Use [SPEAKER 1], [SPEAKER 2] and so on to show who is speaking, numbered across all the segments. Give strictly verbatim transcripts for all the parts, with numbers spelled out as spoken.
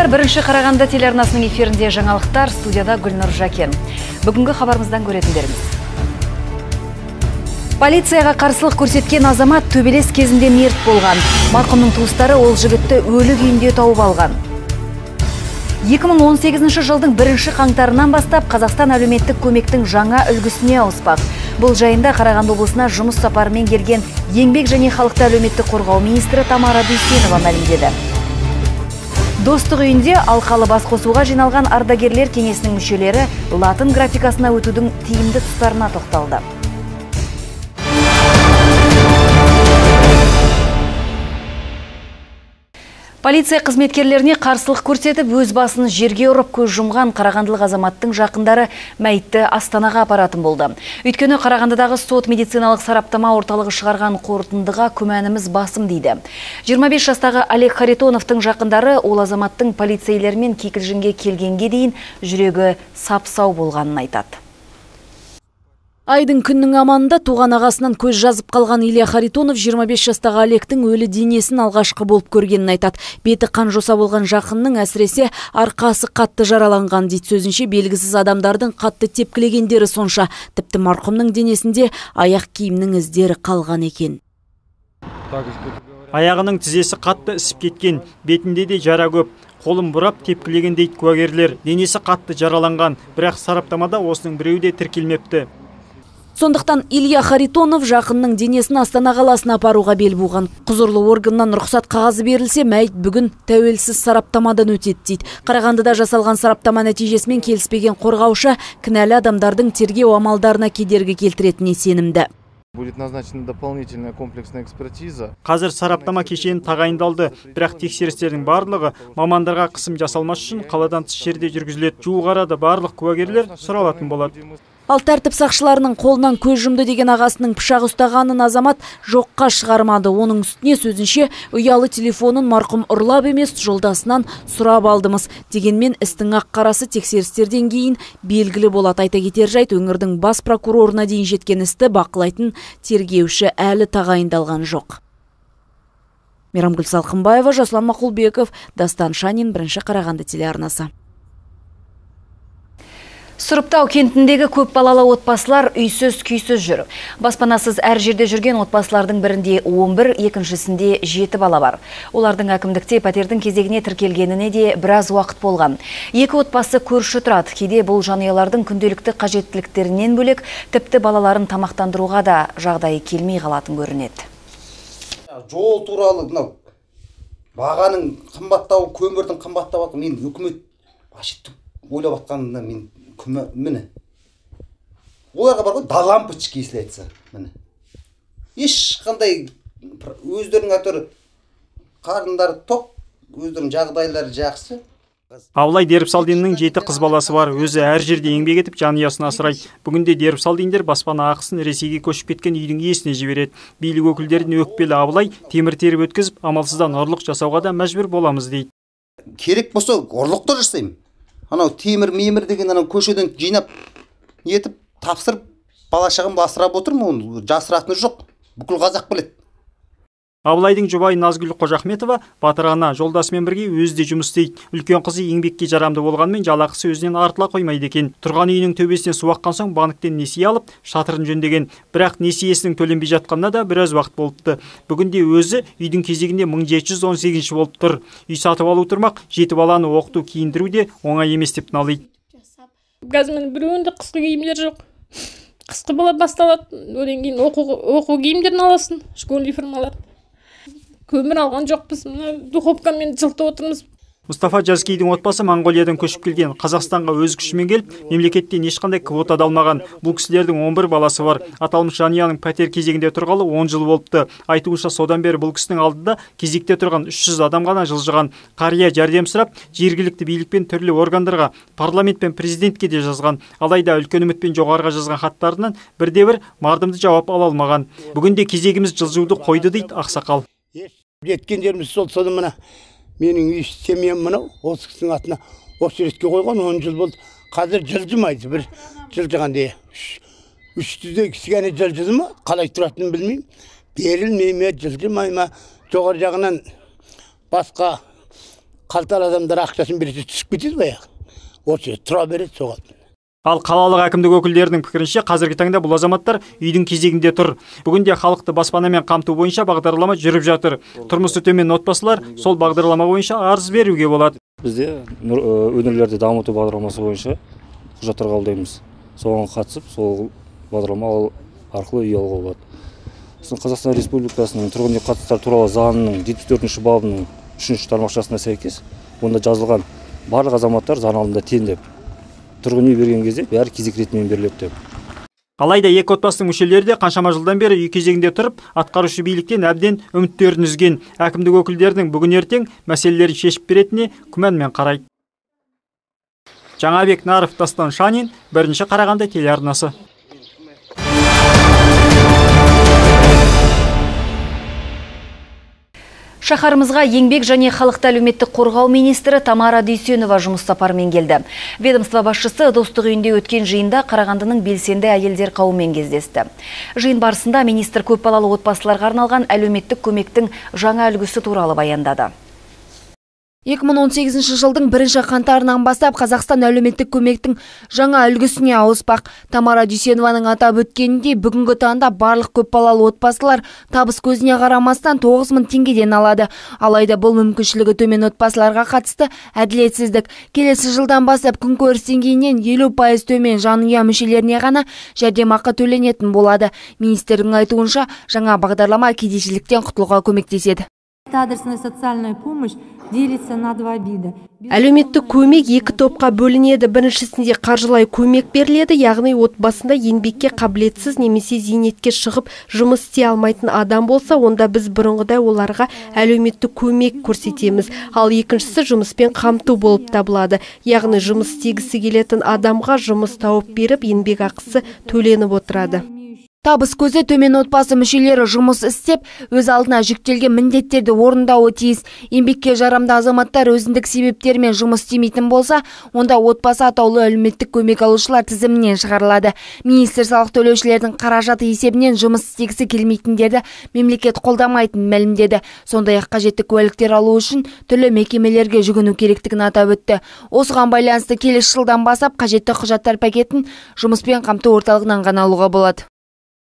[SPEAKER 1] Саламатсыздар, бірінші Қарағанды телеарнасының эфирінде жаңалықтар, студияда Гүлнұр Жакен. Бүгінгі хабарымыздан көретіндеріміз. Полицияға қарсылық көрсеткен азамат төбелес кезінде мерт болған. Марқұмның туыстары ол жігітті өлі күйінде тауып алған. екі мың он сегізінші жылдың бірінші қаңтарынан бастап Қазақстан әлеуметтік көмектің жаңа үлгісіне ауыспақ. Бұл жайында Қарағанды облысына жұмыс сапарымен келген еңбек және халықты әлеуметтік қорғау министрі Тамара Дүйсенова мәлімдеді. Достық үйінде алқалы басқосуға жиналған ардагерлер кеңесінің мүшелері латын графикасына өтудің тиімді тұстарына тоқталды. Полиция қызметкерлеріне қарсылық көрсетіп, өз басын жерге ұрып көз жұмған қарағандылық азаматтың жақындары мәйітті Астанаға апаратын болды. Өйткені Қарағандыдағы сот медициналық сараптама орталығы шығарған қорытындыға күмәніміз басым дейді. жиырма бес жастағы Олег Харитоновтың жақындары ол азаматтың полицейлермен кикілжіңге келгенге дейін жүрегі сап-сау болғанын айтады. Айдың күннің аманында туған ағасынан көз жазып қалған Илья Харитонов жиырма бес жастағы Олегтің өлі денесін алғашқы болып көргенін айтады. Беті қан жоса болған жақынның әсіресе арқасы қатты жараланған дейді. Сөзінше белгісіз адамдардың қатты тепкілегендері сонша. Тіпті марқұмның денесінде аяқ киімнің іздері қалған екен.
[SPEAKER 2] Аяғының тізесі қатты ісіп кеткен, бетінде де жара көп. Қолын бұрап тепкілеген дейді куәгерлер. Денесі қатты жараланған, бірақ сараптамада осының біреуі де тіркелмепті.
[SPEAKER 1] Сондықтан Илья Харитонов жақынның денесін Астана қаласына апаруға бел буған. Құзырлы органнан рұқсат қағазы берілсе, мәйіт бүгін тәуелсіз сараптамадан өтеді дейді. Қарағандыда жасалған сараптама нәтижесімен келіспеген қорғаушы кінәлі адамдардың тергеу амалдарына кедергі келтіретініне сенімді.
[SPEAKER 3] Будет назначена дополнительная комплексная экспертиза.
[SPEAKER 2] Қазір сараптама кешені тағайындалды, бірақ тексерістердің барлығы мамандарға қысым жасалмас үшін қаладан тыс жерде жүргізіледі. Жуық арада барлық куәгерлер сұралатын болады.
[SPEAKER 1] Ал тәртіп сақшыларының қолынан көз жұмды деген ағасының пышақ ұстағанын азамат жоққа шығармады. Оның үстіне сөзінше ұялы телефонын марқұм ұрлап емес жолдасынан сұрап алдымыз. Дегенмен істің ақ қарасы тексерістерден кейін белгілі болады. Айта кетер жайт, өңірдің бас прокурорына дейін жеткен істі бақылайтын тергеуші әлі тағайындалған жоқ. Мейрамгүл Салқынбаева, Жасұлан Мақұлбеков, Дастан Шанин, бірінші Қарағанды телеарнасы. Сұрыптау кентіндегі көп балалы отбасылар үйсіз күйсіз жүр. Баспанасыз әр жерде жүрген отбасылардың бірінде он бір, екіншісінде жеті бала бар. Олардың әкімдікте пәтердің кезегіне тіркелгеніне де біраз уақыт болған. Екі отбасы көрші тұрады. Кейде бұл жанұялардың күнделікті қажеттіліктерінен бөлек тіпті балаларын тамақтандыруға да жағдайы келмей қалатын көрінеді.
[SPEAKER 4] Жол туралы мынау бағаның қымбаттауы, көмірдің қымбаттауы, мен үкімет ашықты ойлап атқанында мен міне оларға бар ғой, лампочки если айтса, міне ешқандай өздерінің әтөрі қарындары тоқ, өздерінің жағдайлары жақсы.
[SPEAKER 2] Абылай Дербісалдиннің жеті қыз баласы бар. Өзі әр жерде еңбек етіп жанұясын асырайды. Бүгінде Дербісалдиндер баспана ақысын Ресейге көшіп кеткен үйдің иесіне жібереді. Билік өкілдеріне өкпелі Абылай темір теріп өткізіп, амалсыздан ұрлық жасауға да мәжбүр боламыз дейді.
[SPEAKER 4] Керек болса ұрлықты жасаймын. Анау темір мемір деген анау көшеден жинап етіп тапсырып бала шағамды асырап отырмын, оны жасыратыны жоқ. Бүкіл қазақ біледі.
[SPEAKER 2] Абылайдың жұбайы Назгүл Қожахметова батыр ана жолдасымен бірге өзі де жұмыс істейді. Үлкен қызы еңбекке жарамды болғанмен жалақысы өзінен артыла қоймайды екен. Тұрған үйінің төбесіне су аққан соң банктен несие алып, шатырын жөндеген. Бірақ несиесінің төленбей жатқанына да біраз уақыт болыпты. Бүгінде өзі үйдің кезегінде мың жеті жүз он сегізінші болып тұр. Үй сатып алу тұрмақ, жеті баланы оқыту, киіндіру де оңай емес деп налиды.
[SPEAKER 5] Қазір біреуінде қысқы киімдер жоқ. Қысқы бала басталады, одан кейін оқу киімдерін аласың, школьный формалар. Көмір алған жоқпыз, духовкамен жылытып отырмыз.
[SPEAKER 2] Мұстафа Жазкейдің отбасы Монғолиядан көшіп келген. Қазақстанға өз күшімен келіп, мемлекеттен ешқандай квота алмаған. Бұл кісілердің он бір баласы бар. Аталмыш жанұяның пәтер кезегінде тұрғалы он жыл болыпты. Айтуынша содан бері бұл кісінің алдында кезекте тұрған үш жүз адам ғана жылжыған. Қария жәрдем сұрап, жергілікті билікпен түрлі органдарға, парламент пен президентке де жазған. Алайда үлкен үмітпен жоғарыға жазған хаттарынан бірде-бір мардымды жауап ала алмаған. Бүгінде кезегіміз жылжуды қойды дейді ақсақал.
[SPEAKER 6] Жеткендеріміз сол соны мына менің үй семьям мынау осы кісінің атына осы ретке қойған он жыл болды. Қазір жылжымайды, бір жылжығанда үш жүздей кішкене жылжыды ма, қалай тұратынын білмеймін. Берілмей ме, жылжымай ма, жоғары жағынан басқа қалталы адамдар ақшасын берсе түсіп кетеді баяғы. Осы тұра береді соған.
[SPEAKER 2] Ал қалалық әкімдік өкілдерінің пікірінше қазіргі таңда бұл азаматтар үйдің кезегінде тұр. Бүгінде халықты баспанамен қамту бойынша бағдарлама жүріп жатыр. Тұрмысы төмен отбасылар сол бағдарлама бойынша арыз беруге болады.
[SPEAKER 7] Бізде өңірлерді дамыту бағдарламасы бойынша құжаттар қабылдаймыз. Соған қатысып, сол бағдарлама арқылы үй алуға болады. Қазақстан Республикасының тұрғын үй қатынастары туралы заңының жетпіс төртінші бабының үшінші тармақшасына сәйкес, онда жазылған барлық азаматтар заң алдында тең деп. Тұрғын үй берген кезде бәрі кезек ретімен беріледі деп.
[SPEAKER 2] Алайда екі отбасының мүшелері де қаншама жылдан бері үй кезегінде тұрып, атқарушы биліктен әбден үміттерін үзген. Әкімдік өкілдерінің бүгін ертең мәселелерін шешіп беретініне күмәнмен қарайды. Жаңабек Наров, Дастан Шанин, бірінші Қарағанды телеарнасы.
[SPEAKER 1] Шаһарымызға еңбек және халықты әлеуметтік қорғау министрі Тамара Дүйсенова жұмыс сапарымен келді. Ведомство басшысы Достық үйінде өткен жиында Қарағандының белсенді әйелдер қауымымен кездесті. Жиын барысында министр көпбалалы отбасыларға арналған әлеуметтік көмектің жаңа үлгісі туралы баяндады. екі мың он сегізінші жылдың бірінші қаңтарынан бастап Қазақстан әлеуметтік көмектің жаңа үлгісіне ауыспақ. Тамара Дүйсенованың атап өткеніндей, бүгінгі таңда барлық көпбалалы отбасылар табыс көзіне қарамастан тоғыз мың теңгеден алады. Алайда бұл мүмкіншілігі төмен отбасыларға қатысты әділетсіздік. Келесі жылдан бастап күнкөріс деңгейінен елу пайыз төмен жанұя мүшелеріне ғана жәрдемақы төленетін болады. Министрдің айтуынша, жаңа бағдарлама кедейшіліктен құтылуға көмектеседі.
[SPEAKER 8] Адресная социальная помощь делится на два вида.
[SPEAKER 9] Әлеуметтік көмек екі топқа бөлінеді. Біріншісінде қаржылай көмек беріледі, яғни отбасында еңбекке қабілетсіз немесе зейнетке шығып жұмыс істей алмайтын адам болса, онда біз бұрынғыдай оларға әлеуметтік көмек көрсетеміз. Ал екіншісі жұмыспен қамту болып табылады. Яғни жұмыс істегісі келетін адамға жұмыс тауып беріп, еңбек ақысы төленіп отырады.
[SPEAKER 1] Табыс көзі төмен отбасы мүшелері жұмыс істеп, өз алдына жүктелген міндеттерді орындауы тиіс. Еңбекке жарамды азаматтар өзіндік себептермен жұмыс істемейтін болса, онда отбасы атаулы әлеуметтік көмек алушылар тізімінен шығарылады. Министр салық төлеушілердің қаражаты есебінен жұмыс істегісі келмейтіндерді мемлекет қолдамайтынын мәлімдеді. Сондай-ақ қажетті куәліктер алу үшін түрлі мекемелерге жүгіну керектігін атап өтті. Осыған байланысты келесі жылдан бастап қажетті құжаттар пакетін жұмыспен қамту орталығынан ғана алуға болады.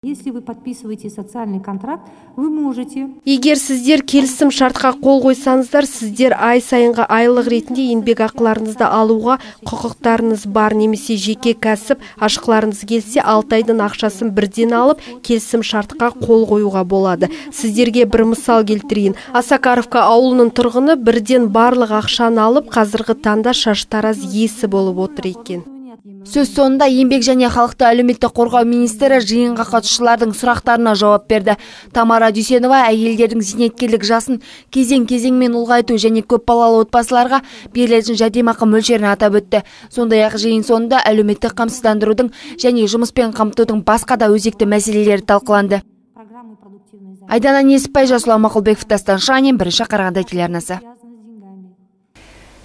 [SPEAKER 8] Если вы подписываете социальный контракт, вы можете.
[SPEAKER 9] Егер сіздер келісім шартқа қол қойсаңыздар, сіздер ай сайынғы айлық ретінде еңбек ақыларыңызды алуға құқықтарыңыз бар, немесе жеке кәсіп ашқыларыңыз келсе, алты айдың ақшасын бірден алып, келісім шартқа қол қоюға болады. Сіздерге бір мысал келтірейін. Асакаровка ауылының тұрғыны бірден барлық ақшаны алып, қазіргі таңда шаштараз иесі болып отыр екен.
[SPEAKER 1] Сөз соңында еңбек және халықты әлеуметтік қорғау министрі жиынға қатысушылардың сұрақтарына жауап берді. Тамара Дүйсенова әйелдердің зейнеткерлік жасын кезең-кезеңмен ұлғайту және көпбалалы отбасыларға берілетін жәрдемақы мөлшерін атап өтті. Сондай-ақ жиын соңында әлеуметтік қамсыздандырудың және жұмыспен қамтудың басқа да өзекті мәселелері талқыланды. Айдана Несіпбай, Жасұлан Мақұлбеков, Дастан Шанин, бірінші Қарағанды телеарнасы.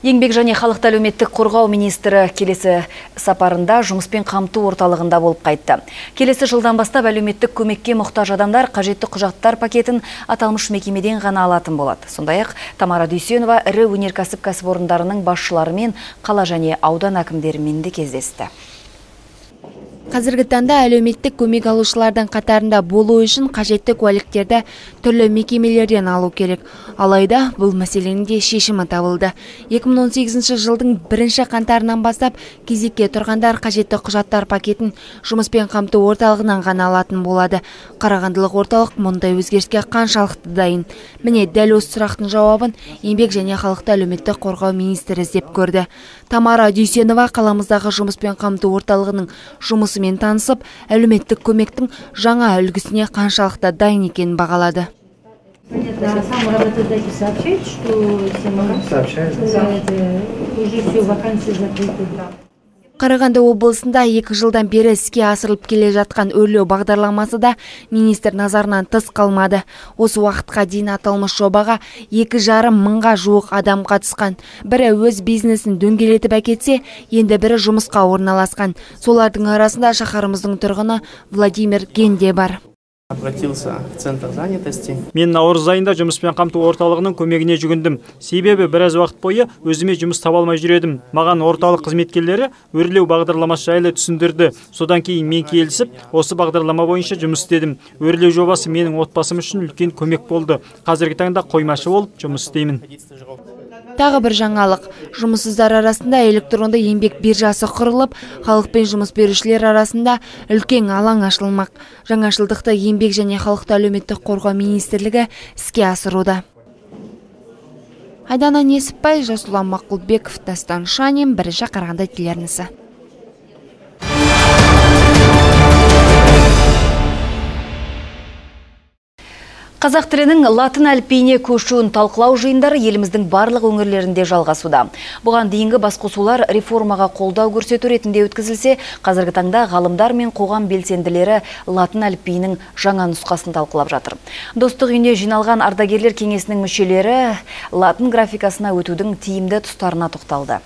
[SPEAKER 1] Еңбек және халықты әлеуметтік қорғау министрі келесі сапарында жұмыспен қамту орталығында болып қайтты. Келесі жылдан бастап әлеуметтік көмекке мұқтаж адамдар қажетті құжаттар пакетін аталмыш мекемеден ғана алатын болады. Сондай-ақ Тамара Дүйсенова ірі өнеркәсіп кәсіпорындарының басшыларымен, қала және аудан әкімдерімен де кездесті. Қазіргі таңда әлеуметтік көмек алушылардың қатарында болу үшін қажетті куәліктерді түрлі мекемелерден алу керек. Алайда бұл мәселенің де шешімі табылды. екі мың он сегізінші жылдың бірінші қаңтарынан бастап кезекке тұрғандар қажетті құжаттар пакетін жұмыспен қамту орталығынан ғана алатын болады. Қарағандылық орталық мұндай өзгеріске қаншалықты дайын? Міне дәл осы сұрақтың жауабын еңбек және халықты әлеуметтік қорғау министрі іздеп көрді. Тамара Дүйсенова қаламыздағы жұмыспен қамту орталығының жұмысымен танысып, әлеуметтік көмектің жаңа үлгісіне қаншалықты дайын екенін бағалады. Қарағанды облысында екі жылдан бері іске асырылып келе жатқан өрлеу бағдарламасы да министр назарынан тыс қалмады. Осы уақытқа дейін аталмыш жобаға екі жарым мыңға жуық адам қатысқан. Бірі өз бизнесін дөңгелетіп әкетсе, енді бірі жұмысқа орналасқан. Солардың арасында шаһарымыздың тұрғыны Владимир Генде бар.
[SPEAKER 10] Обратился в центр занятости.
[SPEAKER 2] Мен наурыз айында жұмыспен қамту орталығының көмегіне жүгіндім. Себебі біраз уақыт бойы өзіме жұмыс таба алмай жүредім. Маған орталық қызметкерлері өрлеу бағдарламасы жайлы түсіндірді. Содан кейін мен келісіп, осы бағдарлама бойынша жұмыс істедім. Өрлеу жобасы менің отбасым үшін үлкен көмек болды. Қазіргі таңда қоймашы болып жұмыс істеймін.
[SPEAKER 11] Тағы бір жаңалық, жұмыссыздар арасында электронды еңбек биржасы құрылып, халық пен жұмыс берушілер арасында үлкен алаң ашылмақ. Жаңашылдықты еңбек және халықты әлеуметтік қорғау министрлігі іске асыруда. Айдана Несіпбай, Жасұлан Мақұлбеков, Дастан Шанин, Бірінші Қарағанды телеарнасы.
[SPEAKER 1] Қазақ тілінің латын әліпбиіне көшуін талқылау жиындары еліміздің барлық өңірлерінде жалғасуда. Бұған дейінгі басқосулар реформаға қолдау көрсету ретінде өткізілсе, қазіргі таңда ғалымдар мен қоғам белсенділері латын әліпбиінің жаңа нұсқасын талқылап жатыр. Достық үйіне жиналған ардагерлер кеңесінің мүшелері латын графикасына өтудің тиімді тұстарына тоқталды.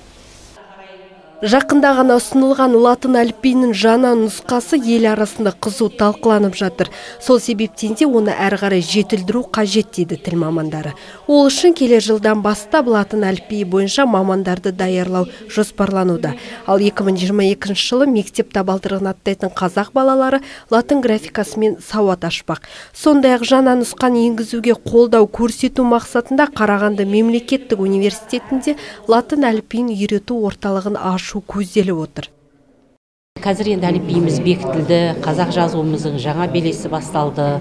[SPEAKER 9] Жақында ғана ұсынылған латын әліпбиінің жаңа нұсқасы ел арасында қызу талқыланып жатыр. Сол себептен де оны әрі қарай жетілдіру қажет дейді тіл мамандары. Ол үшін келер жылдан бастап латын әліпбиі бойынша мамандарды даярлау жоспарлануда. Ал екі мың жиырма екінші жылы мектеп табалдырығын аттайтын қазақ балалары латын графикасымен сауат ашпақ. Сондай-ақ жаңа нұсқаны енгізуге қолдау көрсету мақсатында Қарағанды мемлекеттік университетінде латын әліпбиін үйрету орталығын ашу көзделіп отыр.
[SPEAKER 12] Қазір енді әліпбиіміз бекітілді, қазақ жазуымыздың жаңа белесі басталды.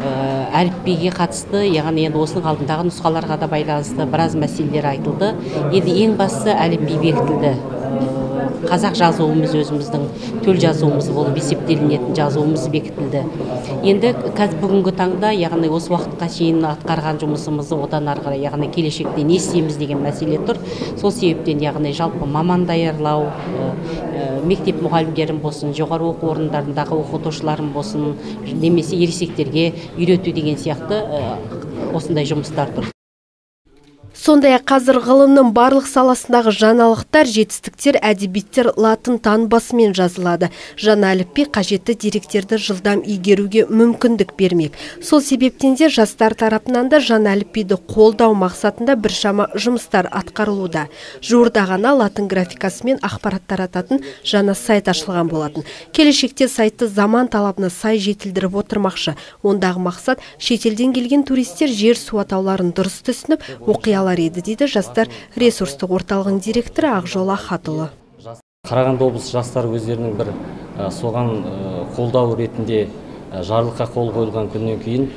[SPEAKER 12] Әліпбиге қатысты, яғни енді осының алдындағы нұсқаларға да байланысты біраз мәселелер айтылды. Енді ең бастысы әліпби бекітілді. Қазақ жазуымыз өзіміздің төл жазуымыз болып есептелінетін жазуымыз бекітілді. Енді бүгінгі таңда, яғни осы уақытқа шейін атқарған жұмысымызды одан ары қарай, яғни келешекте не істейміз деген мәселе тұр. Сол себептен, яғни жалпы маман даярлау, мектеп мұғалімдерін болсын, жоғары оқу орындарындағы оқытушыларын болсын, немесе ересектерге үйрету деген сияқты осындай жұмыстар тұр.
[SPEAKER 9] Сондай-ақ қазір ғылымның барлық саласындағы жаңалықтар, жетістіктер, әдебиеттер латын танбасымен жазылады. Жаңа әліпби қажетті деректерді жылдам игеруге мүмкіндік бермек. Сол себептен де жастар тарапынан да жаңа әліпбиді қолдау мақсатында біршама жұмыстар атқарылуда. Жуырда ғана латын графикасымен ақпарат тарататын жаңа сайт ашылған болатын. Келешекте сайтты заман талабына сай жетілдіріп отырмақшы. Ондағы мақсат шетелден келген туристер жер су атауларын дұрыс түсініп, оқиялар еді дейді жастар ресурстық орталығының директоры Ақжол Ахатұлы.
[SPEAKER 7] Қарағанды облысы жастары өздерінің бір соған қолдау ретінде жарлыққа қол қойылған күннен кейін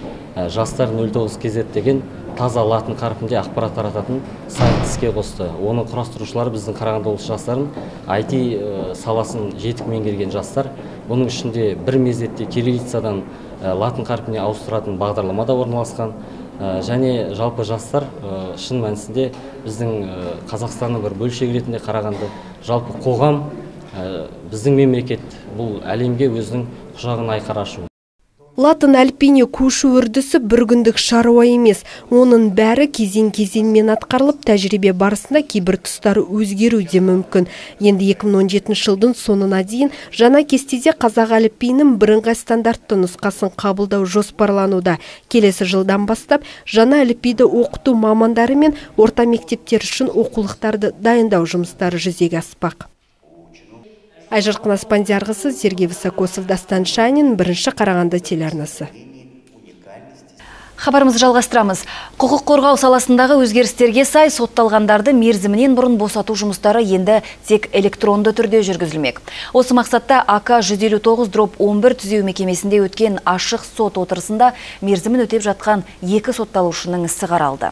[SPEAKER 7] жастар нөл тоғыз кз деген таза латын қарпінде ақпарат тарататын сайт іске қосты. Оның құрастырушылары біздің Қарағанды облысы жастарын ай ти саласын жетік меңгерген жастар. Бұның ішінде бір мезетте кириллицадан латын қарпіне ауыстыратын бағдарлама да орналасқан. Және жалпы жастар шын мәнісінде біздің Қазақстанның бір бөлшегі ретінде қарағанды, жалпы қоғам, біздің мемлекет бұл әлемге өзінің құшағын айқара ашу.
[SPEAKER 9] Латын әліпбиіне көшу үрдісі бір күндік шаруа емес. Оның бәрі кезең-кезеңмен атқарылып, тәжірибе барысында кейбір тұстары өзгеру де мүмкін. Енді екі мың он жетінші жылдың соңына дейін жаңа кестеде қазақ әліпбиінің бірыңғай стандартты нұсқасын қабылдау жоспарлануда. Келесі жылдан бастап жаңа әліпбиді оқыту мамандары мен орта мектептер үшін оқулықтарды дайындау жұмыстары жүзеге аспақ. Айжарқын Аспандиярғысы, Сергей Высокосов, Дастан Шанин, Бірінші Қарағанды телеарнасы.
[SPEAKER 1] Хабарымызды жалғастырамыз. Құқық қорғау саласындағы өзгерістерге сай сотталғандарды мерзімінен бұрын босату жұмыстары енді тек электронды түрде жүргізілмек. Осы мақсатта А К жүз елу тоғыз он бір түзеу мекемесінде өткен ашық сот отырысында мерзімін өтеп жатқан екі сотталушының ісі қаралды.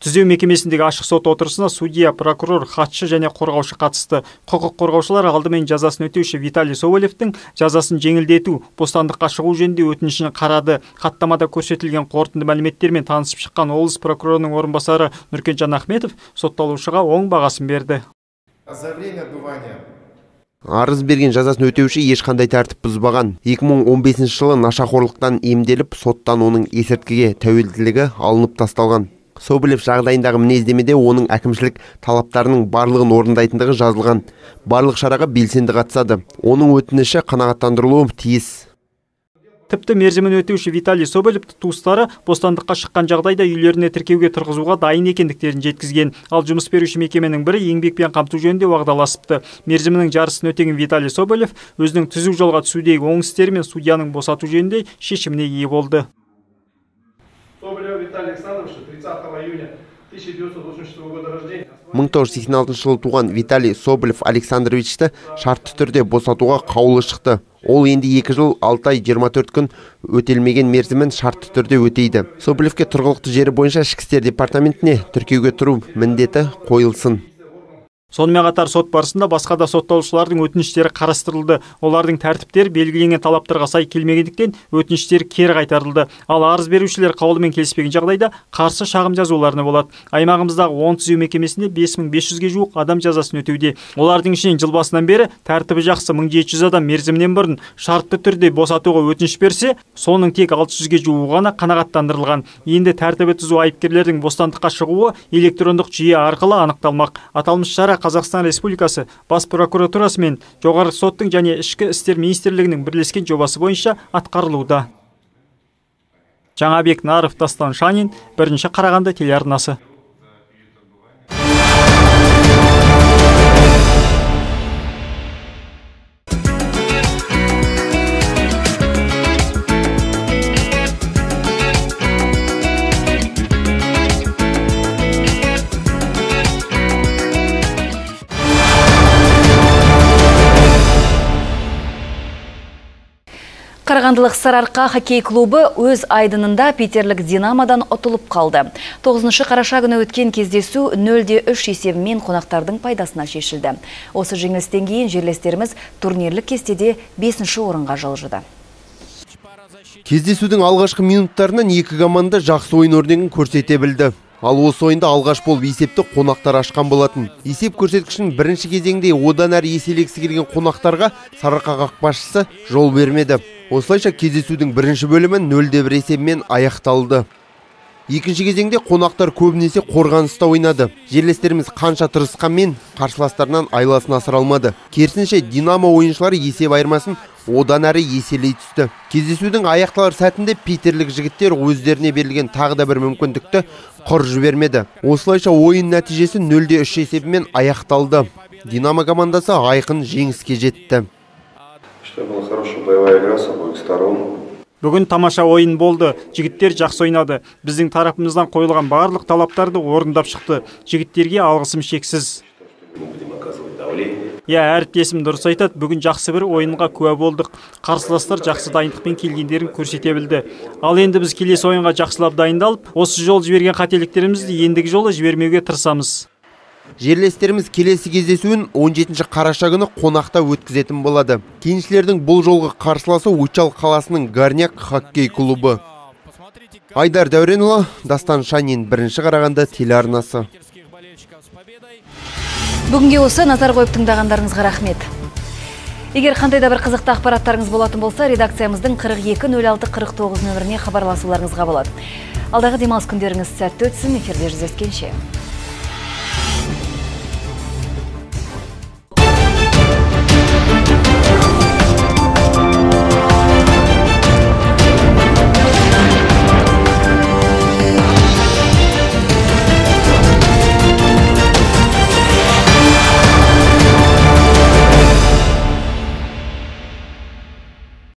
[SPEAKER 2] Түзеу мекемесіндегі ашық сот отырысына судья, прокурор, хатшы және қорғаушы қатысты. Құқық қорғаушылар алдымен жазасын өтеуші Виталий Соболевтің жазасын жеңілдету, бостандыққа шығу жөнінде өтінішін қарады. Хаттамада көрсетілген қорытынды мәліметтермен танысып шыққан облыс прокурорының орынбасары Нұркен Ахметов сотталушыға оң бағасын берді.
[SPEAKER 13] Арыз берген жазасын өтеуші ешқандай тәртіп бұзбаған. екі мың он бесінші жылы нашақорлықтан емделіп, соттан оның есірткіге тәуелділігі алынып тасталған. Соболев жағдайындағы мінездемеде оның әкімшілік талаптарының барлығын орындайтындығы жазылған. Барлық шараға белсенді қатысады. Оның өтініші қанағаттандырылуы тиіс.
[SPEAKER 2] Тіпті мерзімін өтеуші Виталий Соболевті туыстары бостандыққа шыққан жағдайда үйлеріне тіркеуге тұрғызуға дайын екендіктерін жеткізген. Ал жұмыс беруші мекеменің бірі еңбекпен қамту жөнінде уағдаласыпты. Мерзімінің жарысын өтеген Виталий Соболев өзінің түзу жолға түсудегі оң істері мен судьяның босату жөнінде шешіміне ие болды.
[SPEAKER 14] Соболев Виталий Александрович, тридцатого июня тысяча девятьсот восемьдесят шестого года рождения.
[SPEAKER 13] мың тоғыз жүз сексен алтыншы жылы туған Виталий Соболев Александровичті шартты түрде босатуға қаулы шықты. Ол енді екі жыл алты ай жиырма төрт күн өтелмеген мерзімін шартты түрде өтейді. Соболевке тұрғылықты жері бойынша ішкі істер департаментіне тіркеуге тұру міндеті қойылсын.
[SPEAKER 2] Сонымен қатар сот барысында басқа да сотталушылардың өтініштері қарастырылды. Олардың тәртіптері белгіленген талаптарға сай келмегендіктен өтініштері кері қайтарылды. Ал арыз берушілер қаулымен келіспеген жағдайда қарсы шағым жазуларына болады. Аймағымыздағы он түзеу мекемесінде бес мың бес жүзге жуық адам жазасын өтеуде. Олардың ішінен жыл басынан бері тәртібі жақсы мың жеті жүз адам мерзімінен бұрын шартты түрде босатуға өтініш берсе, соның тек алты жүзге жуығы ғана қанағаттандырылған. Енді тәртібі түзу айыпкерлердің бостандыққа шығуы электрондық жүйе арқылы анықталмақ. Аталмыш шара Қазақстан Республикасы Бас прокуратурасы мен жоғарғы соттың және ішкі істер министрлігінің бірлескен жобасы бойынша атқарылуда. Жаңабек Наров, Дастан Шанин, бірінші Қарағанды телеарнасы.
[SPEAKER 1] Қарағандылық Сарыарқа хоккей клубы өз айдынында Питерлік Динамодан ұтылып қалды. тоғызыншы қараша күні өткен кездесу нөл де үш есебімен қонақтардың пайдасына шешілді. Осы жеңілістен кейін жерлестеріміз турнирлік кестеде бесінші орынға жылжыды.
[SPEAKER 13] Кездесудің алғашқы минуттарынан екі команда жақсы ойын өрнегін көрсете білді. Ал осы ойында алғаш болып есепті қонақтар ашқан болатын. Есеп көрсеткішін бірінші кезеңде одан әрі еселегісі келген қонақтарға Сарыарқа қақпашысы жол бермеді. Осылайша кездесудің бірінші бөлімі нөл де бір есебімен аяқталды. Екінші кезеңде қонақтар көбінесе қорғаныста ойнады. Жерлестеріміз қанша тырысқанмен қарсыластарынан айласын асыра алмады. Керісінше Динамо ойыншылары есеп айырмасын одан әрі еселей түсті. Кездесудің аяқталар сәтінде питерлік жігіттер өздеріне берілген тағы да бір мүмкіндікті құр жібермеді. Осылайша ойын нәтижесі нөл де үш есебімен аяқталды. Динамо командасы айқын жеңіске жетті.
[SPEAKER 2] Бүгін тамаша ойын болды. Жігіттер жақсы ойнады. Біздің тарапымыздан қойылған барлық талаптарды орындап шықты. Жігіттерге алғысым шексіз. Я, әріптесім дұрыс айтады, бүгін жақсы бір ойынға куә болдық. Қарсыластар жақсы дайындықпен келгендерін көрсете білді. Ал енді біз келесі ойынға жақсылап дайындалып, осы жол жіберген қателіктерімізді ендігі жолы жібермеуге тырысамыз.
[SPEAKER 13] Жерлестеріміз келесі кездесуін он жетінші қараша күні қонақта өткізетін болады. Кеншілердің бұл жолғы қарсыласы Учал қаласының Горняк хоккей клубы. Айдар Дәуренұлы, Дастан Шанин, бірінші Қарағанды телеарнасы.
[SPEAKER 1] Бүгінге осы назар қойып тыңдағандарыңызға рахмет. Егер қандай да бір қызықты ақпараттарыңыз болатын болса, редакциямыздың қырық екі нөл алты қырық тоғыз нөміріне хабарласуларыңызға болады. Алдағы демалыс күндеріңіз сәтті өтсін, эфирде жүздескенше.